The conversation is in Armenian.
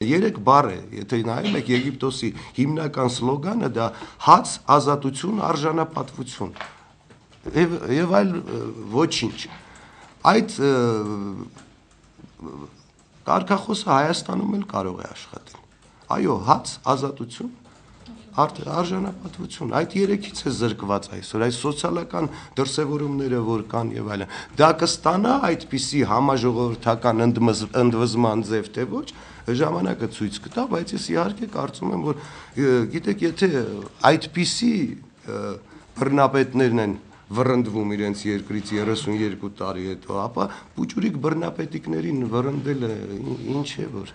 Երեք բառ է, եթե նայում եք Եգիպտոսի հիմնական սլոգանը դա հաց, ազատություն, արժանապատվություն եւ այլ ոչինչ։ Այդ կարգախոսը Հայաստանում էլ կարող է աշխատել։ Այո, հաց, ազատություն, արժանապատվություն, այդ երեքից է զրկված այսօր, այս սոցիալական դրսևորումները, որ կան եւ այլն։ Դա կստանա այդպիսի համաժողովրդական ընդվզման ձև թե ոչ, ժամանակը ցույց կտա, բայց ես իհարկե կարծում եմ, որ գիտեք, եթե այդպիսի բռնապետներն են վռնդվում իրենց երկրից 32 տարի հետո, ապա փուճուրիկ բռնապետիկներին վռնդելը ինչ է որ